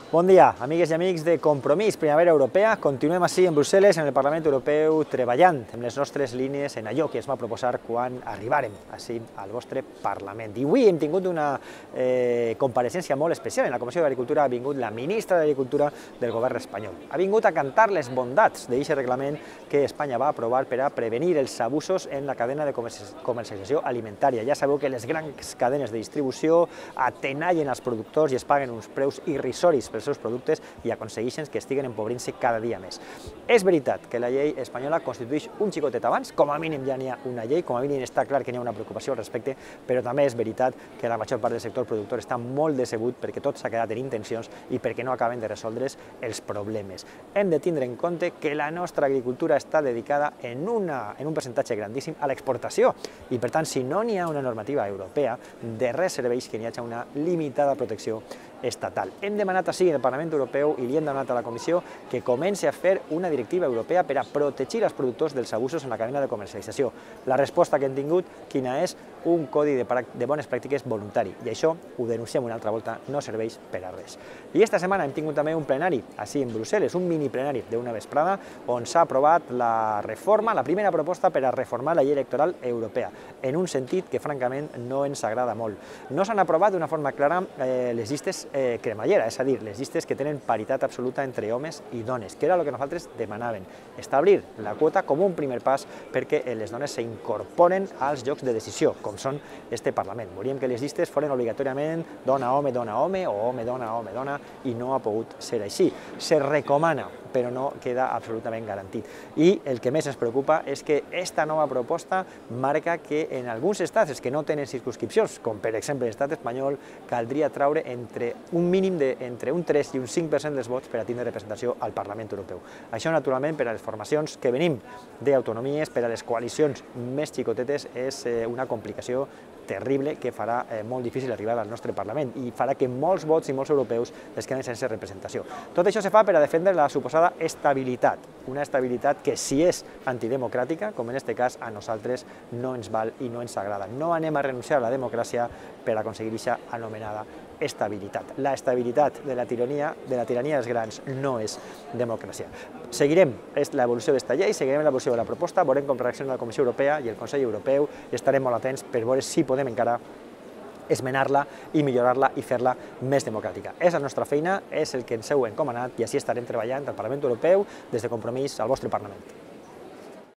Bon dia, amigues i amics de Compromís Primavera Europea. Continuem així en Brussel·les, en el Parlament Europeu, treballant amb les nostres línies en allò que es va proposar quan arribàrem així al vostre Parlament. I avui hem tingut una compareixença molt especial. En la Comissió d'Agricultura ha vingut la ministra d'Agricultura del govern espanyol. Ha vingut a cantar les bondats d'aquest reglament que Espanya va aprovar per a prevenir els abusos en la cadena de comercialització alimentària. Ja sabeu que les grans cadenes de distribució atenallen els productors i es paguen uns preus irrisoris pels seus productes i aconsegueixen que estiguen empobrint-se cada dia més. És veritat que la llei espanyola constitueix un xicotet abans, com a mínim ja n'hi ha una llei, com a mínim està clar que n'hi ha una preocupació al respecte, però també és veritat que la major part del sector productor està molt decebut perquè tot s'ha quedat en intencions i perquè no acaben de resoldre's els problemes. Hem de tindre en compte que la nostra agricultura està dedicada en un percentatge grandíssim a l'exportació i, per tant, si no n'hi ha una normativa europea, de res serveix que n'hi hagi una limitada protecció estatal. Hem demanat així en el Parlament Europeu i li hem demanat a la Comissió que comenci a fer una directiva europea per a protegir els productors dels abusos en la cadena de comercialització. La resposta que hem tingut, quina és? Un codi de bones pràctiques voluntari. I això, ho denunciem una altra volta, no serveix per a res. I esta setmana hem tingut també un plenari, així en Brussel·les, un mini plenari d'una vesprada, on s'ha aprovat la reforma, la primera proposta per a reformar la llei electoral europea, en un sentit que francament no ens agrada molt. No s'han aprovat d'una forma clara les llistes cremallera, és a dir, les llistes que tenen paritat absoluta entre homes i dones, que era el que nosaltres demanàvem, establir la quota com un primer pas perquè les dones s'incorporen als llocs de decisió, com són este Parlament. Volíem que les llistes foren obligatòriament dona-home, dona-home o home-dona, home-dona, i no ha pogut ser així. Se recomana, però no queda absolutament garantit. I el que més ens preocupa és que esta nova proposta marca que en alguns estats, els que no tenen circumscripcions, com per exemple l'estat espanyol, caldria traure entre un mínim entre un 3 i un 5% dels vots per a tindre representació al Parlament Europeu. Això, naturalment, per a les formacions que venim d'autonomies, per a les coalicions més xicotetes, és una complicació terrible que farà molt difícil arribar al nostre Parlament i farà que molts vots i molts europeus es queden sense representació. Tot això se fa per a defendre la suposada estabilitat, una estabilitat que, si és antidemocràtica, com en aquest cas, a nosaltres no ens val i no ens agrada. No anem a renunciar a la democràcia per aconseguir aquesta anomenada estabilitat. La estabilitat de la tirania dels grans no és democràcia. Seguirem l'evolució d'esta llei, seguirem l'evolució de la proposta, veurem com reacciona la Comissió Europea i el Consell Europeu i estarem molt atents per veure si podem encara esmenar-la i millorar-la i fer-la més democràtica. És la nostra feina, és el que ens heu encomanat i així estarem treballant al Parlament Europeu des de Compromís al vostre Parlament.